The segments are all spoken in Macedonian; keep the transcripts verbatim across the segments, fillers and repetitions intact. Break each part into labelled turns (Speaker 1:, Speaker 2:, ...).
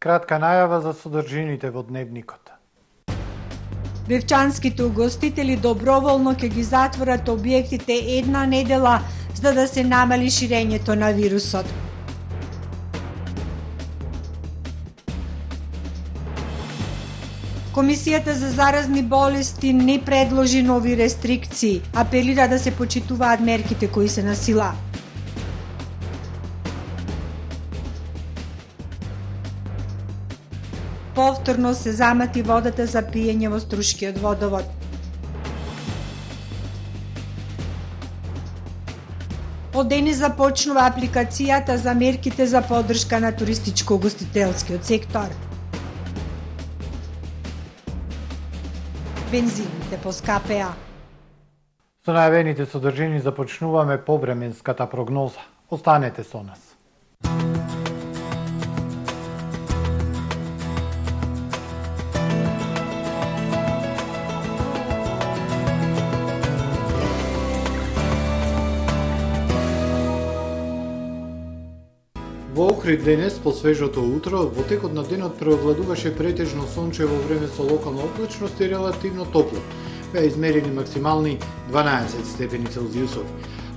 Speaker 1: кратка најава за содржините во дневникот.
Speaker 2: Бевчанските угостители доброволно ќе ги затворат објектите една недела за да се намали ширењето на вирусот. Комисијата за заразни болести не предложи нови рестрикции, апелира да се почитуваат мерките кои се на сила. Повторно се замати водата за пиење во Струшкиот водовод. Од денес започнува апликацијата за мерките за поддршка на туристичко-угостителскиот сектор. Бензините поскапеа.
Speaker 1: Со најавените содржини започнуваме повременската прогноза. Останете со нас. Во Охрид денес, по свежото утро, во текот на денот преовладуваше претежно сончево време со локална облачност и релативно топло. Беа измерени максимални дванаесет степени Целзиусови.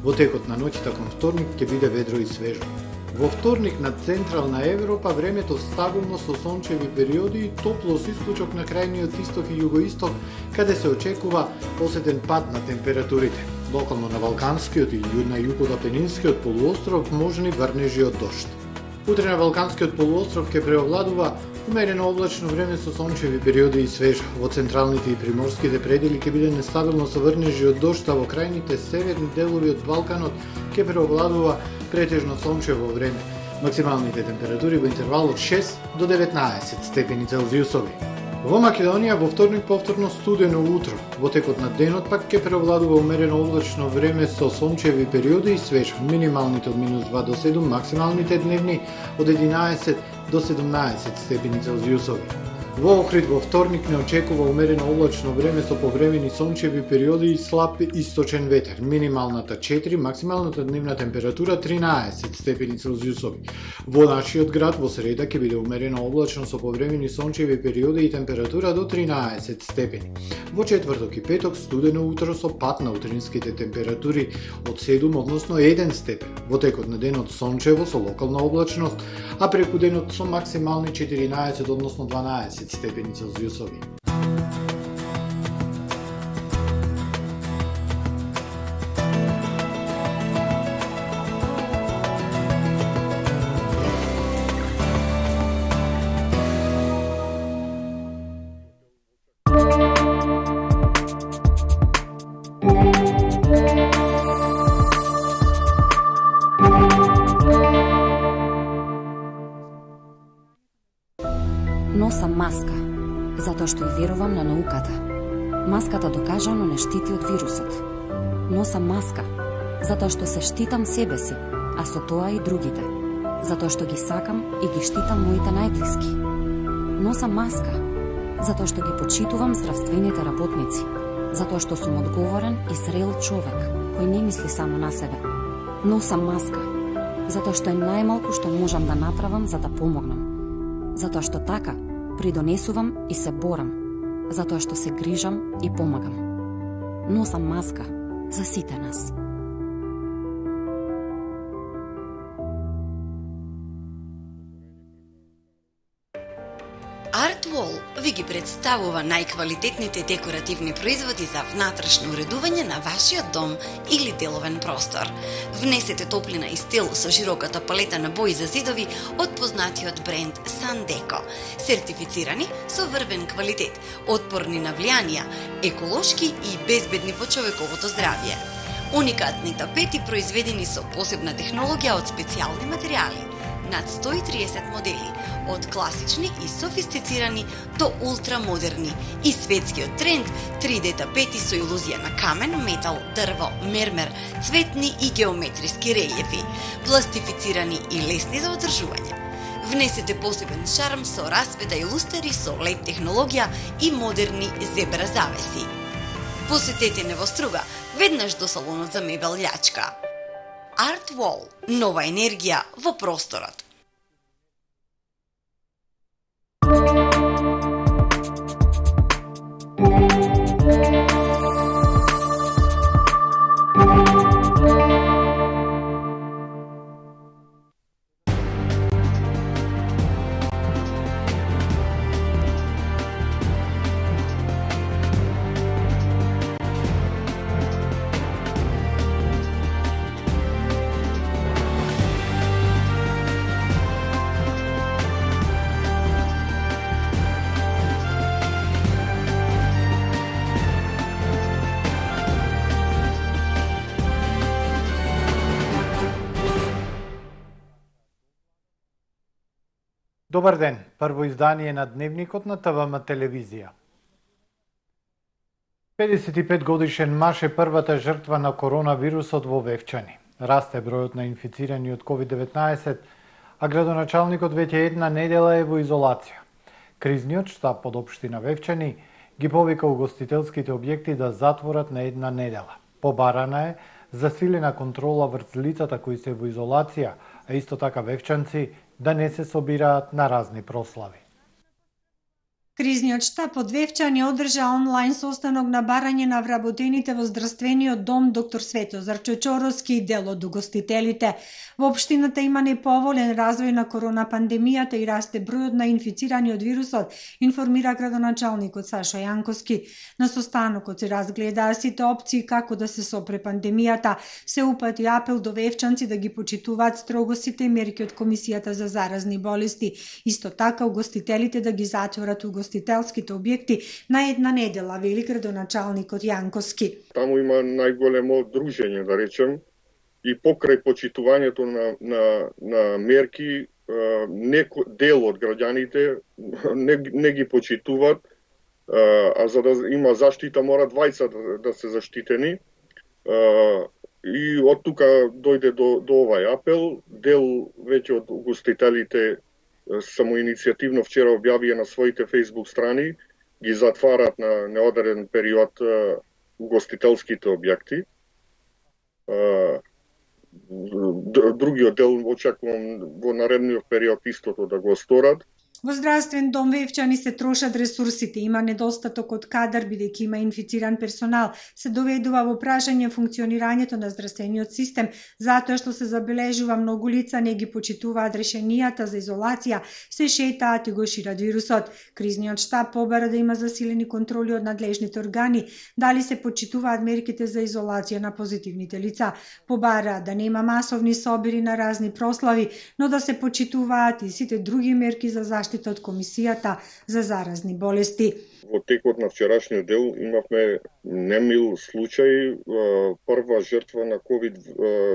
Speaker 1: Во текот на ноќта кон вторник ќе биде ведро и свежо. Во вторник на Централна Европа времето стабилно со сончеви периоди и топло со исклучок на крајниот исток и југоисток, каде се очекува посетен пад на температурите. Локално на Балканскиот и на југоапенинскиот полуостров можни врнежи од дожд. Утре на Балканскиот полуостров ќе преовладува умерено облачно време со сончеви периоди и свежо. Во централните и приморските предели ќе биде нестабилно со врнежи од дожд, а во крајните северни делови од Балканот ќе преовладува претежно сончево време. Максималните температури во интервал од шест до деветнаесет степени Целзиусови. Во Македонија во вторник повторно студено утро. Во текот на денот пак ќе преовладува умерено облачно време со сончеви периоди и свежо. Минималните од минус два до седум, максималните дневни од единаесет до седумнаесет степени Целзиусови. Во Охрид во вторник не очекува умерено облачно време со повремени сончеви периоди и слаб источен ветер. Минималната четири, максималната дневна температура тринаесет степени Целзиусови. Во нашиот град во среда ќе биде умерено облачно со повремени сончеви периоди и температура до тринаесет степени. Во четврток и петок студено утро со пад на утринските температури од седум, односно еден степен. Во текот на денот сончево со локална облачност, а преку денот со максимални четиринаесет, односно дванаесет степени Целзиусови.
Speaker 3: Носам маска, затоа што и верувам на науката. Маската докажано не штити од вирусот. Носам маска, затоа што се штитам себе си, а со тоа и другите. Затоа што ги сакам и ги штитам моите најблиски. Носам маска, затоа што ги почитувам здравствените работници. Затоа што сум одговорен и зрел човек, кој не мисли само на себе. Носам маска, затоа што е најмалку што можам да направам за да помогнам. Затоа што така придонесувам и се борам, затоа што се грижам и помагам. Носам маска за сите нас.
Speaker 4: Артвол ви ги представува најквалитетните декоративни производи за внатрешно уредување на вашиот дом или деловен простор. Внесете топлина и стил со широката палета на бои за зидови од познатиот бренд Sandeco, сертифицирани со врвен квалитет, отпорни на влијанија, еколошки и безбедни по човековото здравје. Уникатни тапети произведени со посебна технологија од специјални материјали. Над сто и триесет модели, од класични и софистицирани до ултрамодерни, и светскиот тренд три Д тапети со илузија на камен, метал, дрво, мермер, цветни и геометриски релјефи, пластифицирани и лесни за одржување. Внесете посебен шарм со расвета и лустери со лед технологија и модерни зебра завеси. Посетете Невоструга, веднаш до салонот за мебел Љачка. Артвол, нова енергија во просторот.
Speaker 1: Добар ден, прво издание на Дневникот на ТВМ телевизија. педесет и пет годишен маж е првата жртва на коронавирусот во Вевчани. Расте бројот на инфицирани од ковид деветнаесет, а градоначалникот веќе една недела е во изолација. Кризниот штаб од општина Вевчани ги повика угостителските објекти да затворат на една недела. Побарана е засилена контрола врз лицата кои се во изолација, а исто така вевчанци да не се собираат на разни прослави.
Speaker 2: Кризниот штаб од Вевчани одржа онлайн состанок на барање на вработените во здравствениот дом доктор Светозар Чочоровски и дел од угостителите. Во општината има неповолен развој на корона пандемијата и расте бројот на инфицирани од вирусот, информира градоначалникот Сашо Јанковски. На состанокот се разгледаа сите опции како да се сопре пандемијата. Се упати апел до вевчанци да ги почитуваат строго сите мерки од Комисијата за заразни болести. Исто така угостителите да ги затворат угостителите угостителските објекти на една недела, вели градоначалникот Јанковски.
Speaker 5: Таму има најголемо дружење, да речем, и покрај почитувањето на, на, на мерки, неко, дел од граѓаните не, не ги почитуваат, а за да има заштита мора двајца да, да се заштитени. И од тука дојде до, до овај апел. Дел веќе од угостителите самоиницијативно вчера објавија на своите фејсбук страни, ги затварат на неодреден период угостителските објекти. Другиот дел очекувам во наредниот период истото да го сторат.
Speaker 2: Во здравствен дом Вевчани се трошат ресурсите, има недостаток од кадар бидејќи има инфициран персонал, се доведува во прашање функционирањето на здравствениот систем, затоа што се забележува многу лица не ги почитуваат решенијата за изолација, се шетаат и го шират вирусот. Кризниот штаб побара да има засилени контроли од надлежните органи, дали се почитуваат мерките за изолација на позитивните лица, побара да нема масовни собири на разни прослави, но да се почитуваат и сите други мерки за заштита од Комисијата за заразни болести.
Speaker 5: Во текот на вчерашниот дел имавме немил случај, прва жртва на ковид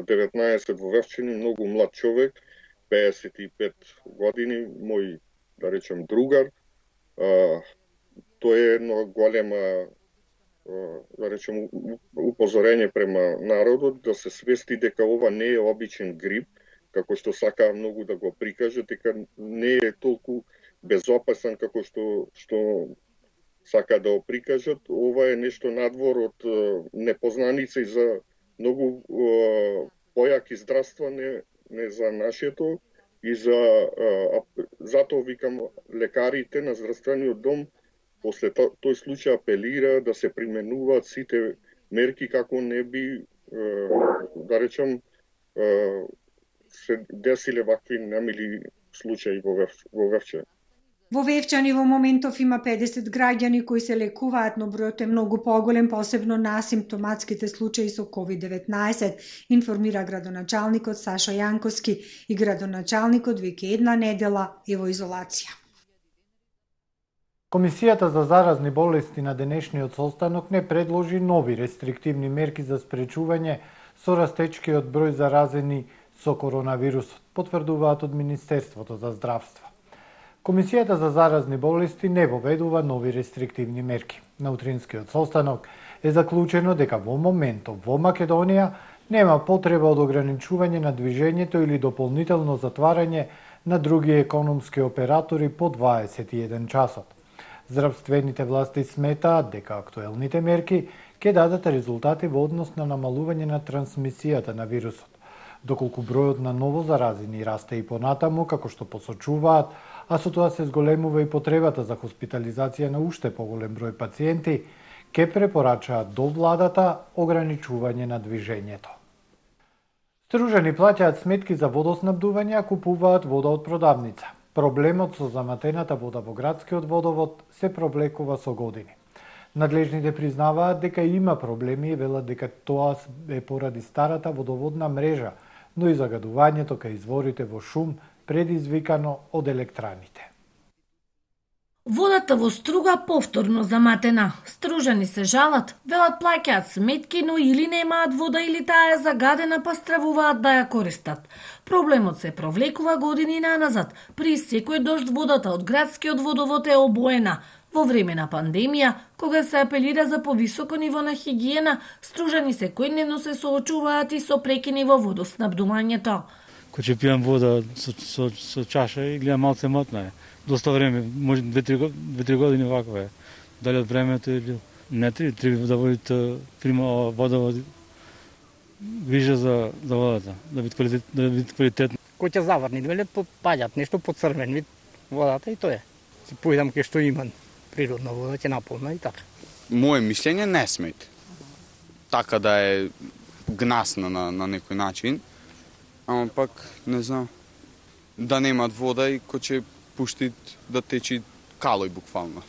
Speaker 5: деветнаесет во Вевчани, многу млад човек, педесет и пет години, мој, да речем, другар. Тоа е едно голема, да речем, упозорење према народот да се свести дека ова не е обичен грип, како што сака многу да го прикаже, дека не е толку безопасен како што што сака да го прикажат. Ова е нешто надвор од непознаница и за многу појаки здравства не, не за нашето и за затоа викам лекарите на здравствениот дом после тој случај апелира да се применуваат сите мерки како не би, да речем, се десиле вакви немили случаи во Вевчани.
Speaker 2: Во Вевчани во моментов има педесет граѓани кои се лекуваат, но бројот е многу поголем, посебно на асимптоматските случаи со ковид деветнаесет, информира градоначалникот Сашо Јанковски и градоначалникот веќе една недела е во изолација.
Speaker 1: Комисијата за заразни болести на денешниот состанок не предложи нови рестриктивни мерки за спречување со растечкиот број заразени со коронавирусот, потврдуваат од Министерството за здравство. Комисијата за заразни болести не воведува нови рестриктивни мерки. На утринскиот состанок е заклучено дека во моментов во Македонија нема потреба од ограничување на движењето или дополнително затварање на други економски оператори по дваесет и еден часот. Здравствените власти сметаат дека актуелните мерки ќе дадат резултати во однос на намалување на трансмисијата на вирусот. Доколку бројот на ново заразени расте и понатаму, како што посочуваат, а со тоа се зголемува и потребата за хоспитализација на уште поголем број пациенти, ке препорачаат до владата ограничување на движењето. Стружани плаќаат сметки за водоснабдување, а купуваат вода од продавница. Проблемот со заматената вода во градскиот водовод се провлекува со години. Надлежните признаваат дека има проблеми и велат дека тоа е поради старата водоводна мрежа, но и загадувањето кај изворите во шум предизвикано од електраните.
Speaker 6: Водата во Струга повторно заматена. Стружани се жалат, велат плаќаат сметки, но или немаат вода или таа е загадена, па стравуваат да ја користат. Проблемот се провлекува години наназад. При секој дожд водата од градскиот водовод е обоена. Во време на пандемија, кога се апелира за повисоко ниво на хигиена, Стружани секојдневно се соочуваат и со прекини во водоснабдувањето.
Speaker 7: Кој ќе пијам вода со, со, со чаша и гледам малце матна е. Доста време, може две-три години ваква е. Дали од времето или не три, три да водите прима водовод виже за за водата, да биде квалитет, да биде квалитетно.
Speaker 8: Кој ќе заврни, веле попаѓат нешто по црвен вид водата и тоа е. Се поидам ке што имам природна вода, ќе наполна и така.
Speaker 9: Моje мишлење не смет. Така да е гнасна на на некој начин, ама пак не знам да немат вода и кој ќе пуштит да течи калој буквално.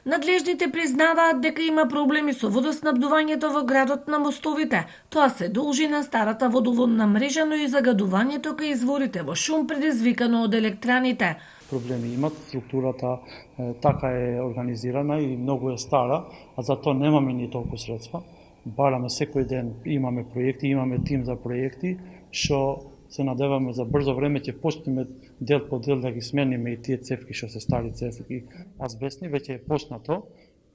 Speaker 6: Надлежните признаваат дека има проблеми со водоснабдувањето во градот на мостовите. Тоа се должи на старата водоводна мрежа, но и загадувањето кај изворите во шум предизвикано од електраните.
Speaker 7: Проблеми имат, структурата е, така е организирана и многу е стара, а за тоа немаме ни толку средства. Бараме секој ден, имаме проекти, имаме тим за проекти, што се надеваме за брзо време ќе почнеме дел по дел да ги смениме и тие цевки што се стари цевки азбестни, веќе е почнато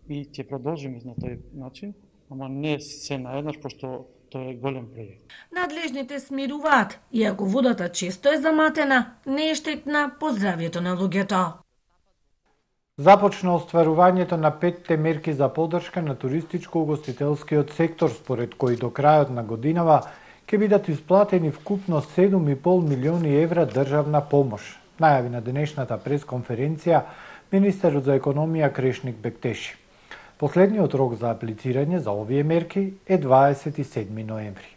Speaker 7: и ќе продолжиме на тој начин, ама не се наеднаш, пошто тоа е голем проект.
Speaker 6: Надлежните смируваат, иако водата често е заматена, не е штетна по здравјето на луѓето.
Speaker 1: Започна остварувањето на петте мерки за поддршка на туристичко-угостителскиот сектор, според кои до крајот на годинава ќе бидат исплатени вкупно седум и пол милиони евра државна помош. Најави на денешната пресконференција министерот за економија Крешник Бектеши. Последниот рок за аплицирање за овие мерки е дваесет и седми ноември.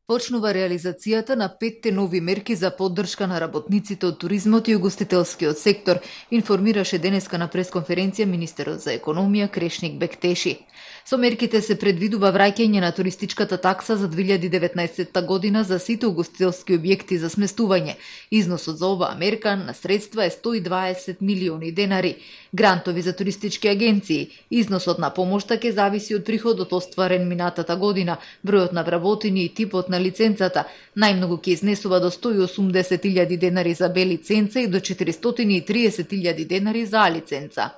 Speaker 10: Почнува реализацијата на петте нови мерки за поддршка на работниците од туризмот и угостителскиот сектор, информираше денеска на пресконференција министерот за економија Крешник Бектеши. Со мерките се предвидува враќање на туристичката такса за две илјади и деветнаесетта година за сите угостителски објекти за сместување. Износот за оваа мерка на средства е сто и дваесет милиони денари. Грантови за туристички агенции. Износот на помошта ќе зависи од приходот остварен минатата година, бројот на вработени и типот на лиценцата. Најмногу ќе изнесува до сто и осумдесет илјади денари за Б лиценца и до четиристотини и триесет илјади денари за А лиценца.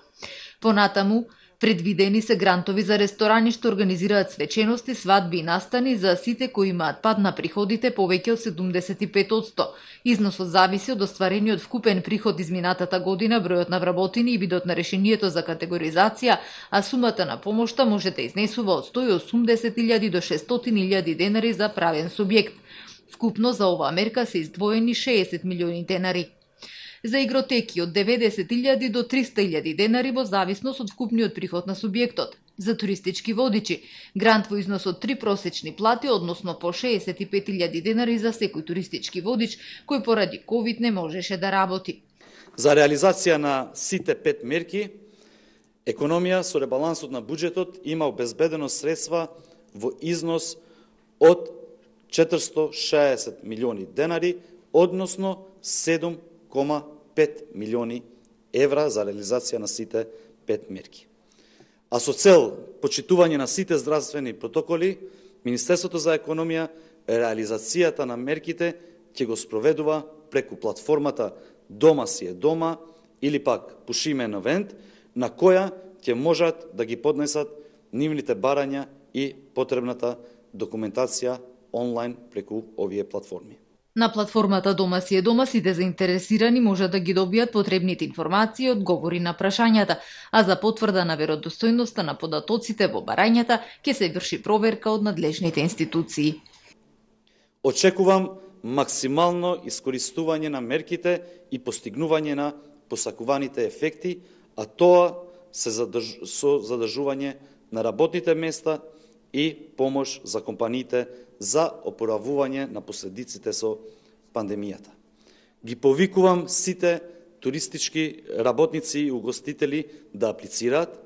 Speaker 10: Понатаму, предвидени се грантови за ресторани што организираат свечености, свадби и настани за сите кои имаат пад на приходите повеќе од седумдесет и пет одсто. Износот зависи од остварениот вкупен приход изминатата година, бројот на вработени и видот на решението за категоризација, а сумата на помошта може да изнесува од сто и осумдесет илјади до шестстотини илјади денари за правен субјект. Вкупно за оваа мерка се издвоени шеесет милиони денари. За игротеки од деветдесет илјади до триста илјади денари во зависност од вкупниот приход на субјектот. За туристички водичи, грант во износ од три просечни плати, односно по шеесет и пет илјади денари за секој туристички водич кој поради ковид не можеше да работи.
Speaker 11: За реализација на сите пет мерки, економија со ребалансот на буџетот има обезбедено средства во износ од четиристо шеесет милиони денари, односно седум кома пет милиони евра за реализација на сите пет мерки. А со цел почитување на сите здравствени протоколи, Министерството за економија реализацијата на мерките ќе го спроведува преку платформата Дома си е дома или пак Пушиме Евент, на која ќе можат да ги поднесат нивните барања и потребната документација онлайн преку овие платформи.
Speaker 10: На платформата Дома си е дома сите заинтересирани може да ги добијат потребните информации и одговори на прашањата, а за потврда на веродостојноста на податоците во барањата ќе се врши проверка од надлежните институции.
Speaker 11: Очекувам максимално искористување на мерките и постигнување на посакуваните ефекти, а тоа се задрж... со задржување на работните места и помош за компаниите за опоравување на последиците со пандемијата. Ги повикувам сите туристички работници и угостители да аплицираат,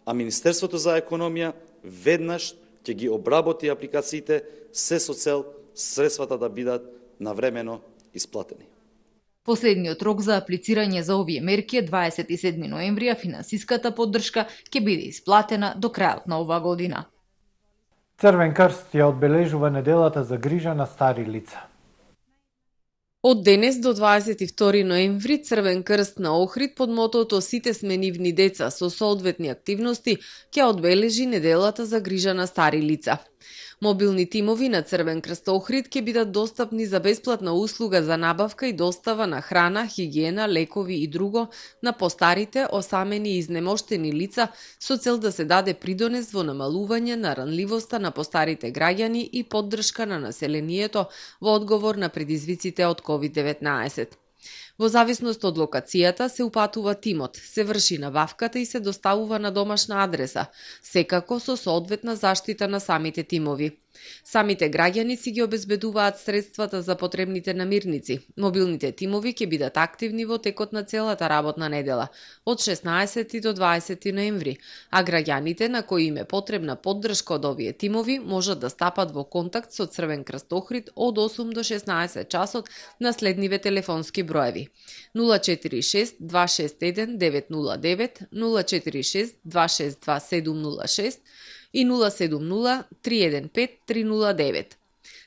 Speaker 11: а Министерството за економија веднаш ќе ги обработи апликациите се со цел средствата да бидат навремено исплатени.
Speaker 10: Последниот рок за аплицирање за овие мерки е дваесет и седми ноември, а финансиската поддршка ќе биде исплатена до крајот на оваа година.
Speaker 1: Црвен крст ја одбележува неделата за грижа на стари лица.
Speaker 12: Од денес до дваесет и втори ноември Црвен крст на Охрид под мотото "Сите сме нивни деца" со соодветни активности ќе одбележи неделата за грижа на стари лица. Мобилни тимови на Црвен крст Охрид ќе бидат достапни за бесплатна услуга за набавка и достава на храна, хигиена, лекови и друго на постарите, осамени и изнемоштени лица со цел да се даде придонес во намалување на ранливоста на постарите граѓани и поддршка на населението во одговор на предизвиците од ковид деветнаесет. Во зависност од локацијата се упатува тимот, се врши набавката и се доставува на домашна адреса, секако со соодветна заштита на самите тимови. Самите граѓани си ги обезбедуваат средствата за потребните намирници. Мобилните тимови ќе бидат активни во текот на целата работна недела, од шеснаесети до дваесети ноември, а граѓаните на кои им е потребна поддршка од овие тимови можат да стапат во контакт со Црвен крст Охрид од осум до шеснаесет часот на следниве телефонски броеви: нула четири шест два шест еден девет нула девет, нула четири шест два шест два седум нула шест и нула седум нула три еден пет три нула девет.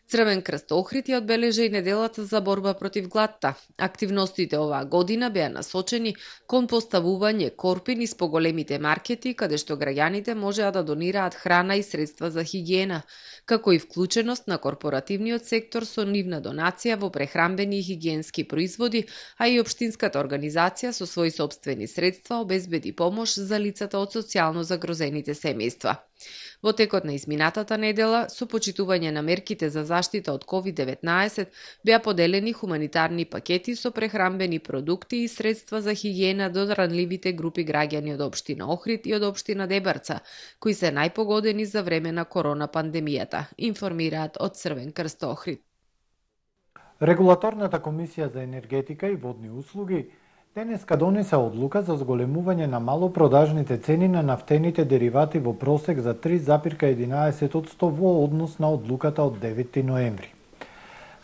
Speaker 12: Црвен крст Охрид ја одбележа и неделата за борба против гладта. Активностите оваа година беа насочени кон поставување корпи низ поголемите маркети, каде што граѓаните можеа да донираат храна и средства за хигиена, како и вклученост на корпоративниот сектор со нивна донација во прехранбени и хигиенски производи, а и општинската организација со своји сопствени средства обезбеди помош за лицата од социјално загрозените семејства. Во текот на изминатата недела, со почитување на мерките за заштита од ковид деветнаесет, беа поделени хуманитарни пакети со прехранбени продукти и средства за хигиена до ранливите групи граѓани од општина Охрид и од општина Дебарца, кои се најпогодени за време на корона пандемијата, информираат од Црвен крст Охрид.
Speaker 1: Регулаторната комисија за енергетика и водни услуги денеска донесе одлука за зголемување на малопродажните цени на нафтените деривати во просек за три зарез единаесет одсто во однос на одлуката од деветти ноември.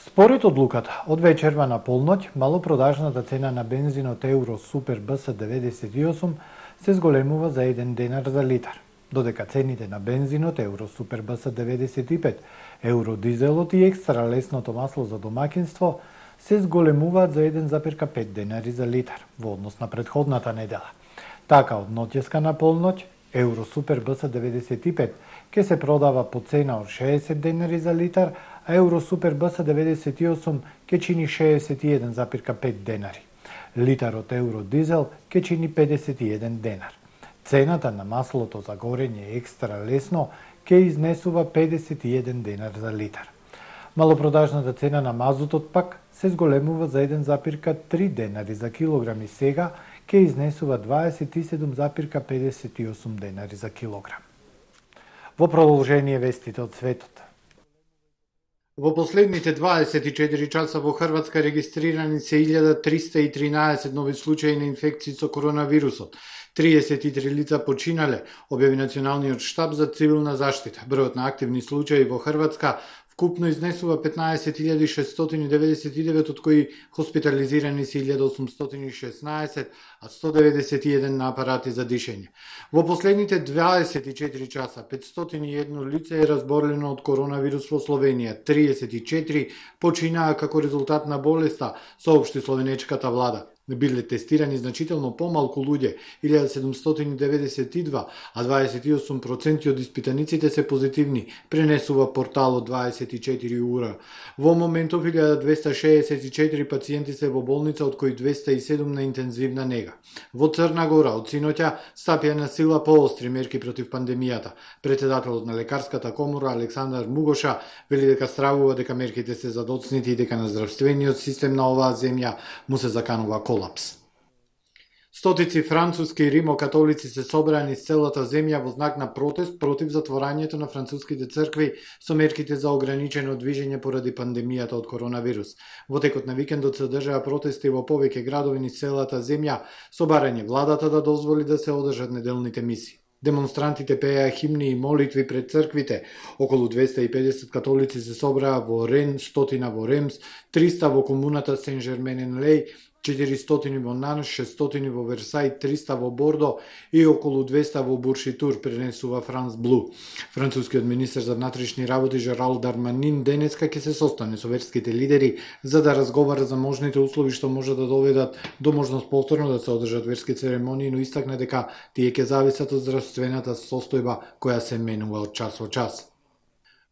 Speaker 1: Според одлуката, од вечерва на полноќ, малопродажната цена на бензинот Евро Супер Б С деветдесет и осум се зголемува за еден денар за литар, додека цените на бензинот Евро Супер Б С деветдесет и пет, Евро Дизелот и екстра лесното масло за домаќинство се зголемуваат за еден зарез пет денари за литар во однос на претходната недела. Така, од ноќеска на полноќ, Евро Супер Б С деветдесет и пет ќе се продава по цена од шеесет денари за литар, а Евро Супер Б С деветдесет и осум ќе чини шеесет и еден зарез пет денари. Литарот Евро Дизел ќе чини педесет и еден денар. Цената на маслото за горење екстра лесно ќе изнесува педесет и еден денар за литар. Малопродажната цена на мазутот пак се зголемува за еден зарез три денари за килограм и сега ќе изнесува дваесет и седум зарез педесет и осум денари за килограм. Во продолжение вестите од светот. Во последните дваесет и четири часа во Хрватска регистрирани се илјада триста и тринаесет нови случаи на инфекции со коронавирусот. триесет и три лица починале, објави Националниот штаб за цивилна заштита. Бројот на активни случаи во Хрватска вкупно изнесува петнаесет илјади шестстотини деветдесет и девет, од кои хоспитализирани се илјада осумстотини и шеснаесет, а сто деветдесет и еден на апарати за дишење. Во последните дваесет и четири часа петстотини и едно лице е разболено од коронавирус во Словенија, триесет и четири починаа како резултат на болеста, соопшти словенечката влада. Биле тестирани значително помалку луѓе, илјада седумстотини деветдесет и два, а дваесет и осум проценти од испитаниците се позитивни, пренесува порталот дваесет и четири ура. Во моментов илјада двеста шеесет и четири пациенти се во болница, од кои двеста и седум на интензивна нега. Во Црна Гора од синоќа стапија на сила поостри мерки против пандемијата. Претседателот на лекарската комора Александар Мугоша вели дека стравува дека мерките се задоцнити и дека на здравствениот систем на оваа земја му се заканува колапс. Стотици француски и римокатолици се собрани из целата земја во знак на протест против затворањето на француските цркви со мерките за ограничено движење поради пандемијата од коронавирус. Во текот на викендот се одржаа протести во повеќе градови низ целата земја со барање владата да дозволи да се одржат неделните миси. Демонстрантите пееа химни и молитви пред црквите. Околу двеста и педесет католици се собраа во Рен, стотина во Ремс, триста во комуната Сен-Жермен-ен-Леј, четиристотини во Нанш, шестстотини во Версај, триста во Бордо и околу двеста во Буршитур, пренесува Франс Блу. Францускиот министер за внатрешни работи Жерал Дарманин денеска ќе се состане со верските лидери за да разговара за можните услови што може да доведат до можност повторно да се одржат верски церемонии, но истакна дека тие ќе зависат од здравствената состојба која се менува од час во час.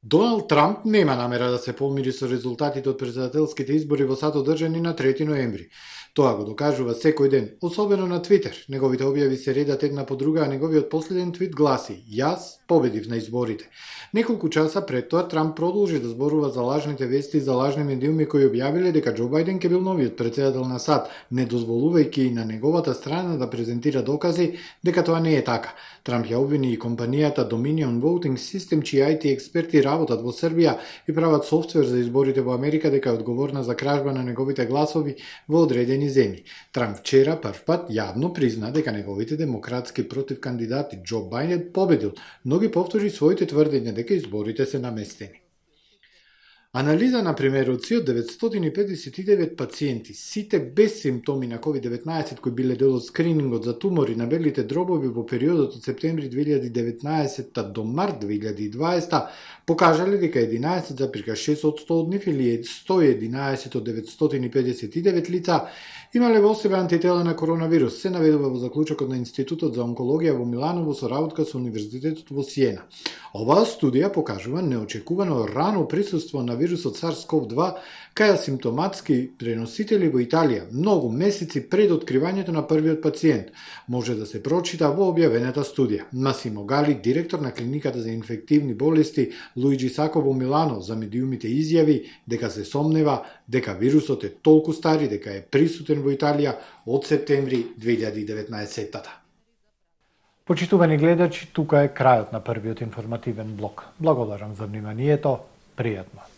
Speaker 1: Доналд Трамп нема намера да се помири со резултатите од претседателските избори во САД одржани на трети ноември. Тоа го докажува секој ден, особено на Твитер. Неговите објави се редат една по друга, а неговиот последен твит гласи: "Јас победив на изборите." Неколку часа пред тоа Трамп продолжи да зборува за лажните вести и за лажни медиуми кои објавиле дека Џо Бајден ќе бил новиот претседател на САД, не дозволувајќи и на неговата страна да презентира докази дека тоа не е така. Трамп ја обвини и компанијата Dominion Voting System, чии ај ти експерти работат во Србија и прават софтвер за изборите во Америка, дека е одговорна за кражба на неговите гласови во одредени земји. Трамп вчера прв пат јавно призна дека неговите демократски против кандидати Џо Бајден победил, но ги повтори своите тврдења дека изборите се наместени. Анализа на примероци од деветстотини педесет и девет пациенти, сите без симптоми на ковид деветнаесет кои биле дел од скринингот за тумори на белите дробови во периодот од септември две илјади и деветнаесетта до март две илјади и дваесетта, покажале дека единаесет запирка шест одсто од нив или сто и единаесет од деветстотини педесет и девет лица имале во себе антитела на коронавирус, се наведува во заклучокот на Институтот за онкологија во Миланово со работка со Универзитетот во Сиена. Оваа студија покажува неочекувано рано присуство на вирусот SARS-ков два кај асимптоматски преносители во Италија, многу месеци пред откривањето на првиот пациент. Може да се прочита во објавената студија. Масимо Гали, директор на клиниката за инфективни болести Луиджи Сако во Милано, за медиумите изјави дека се сомнева дека вирусот е толку стар и дека е присутен во Италија од септември две илјади и деветнаесетта.
Speaker 13: Почитувани гледачи, тука е крајот на првиот информативен блок. Благодарам за вниманието, пријатно.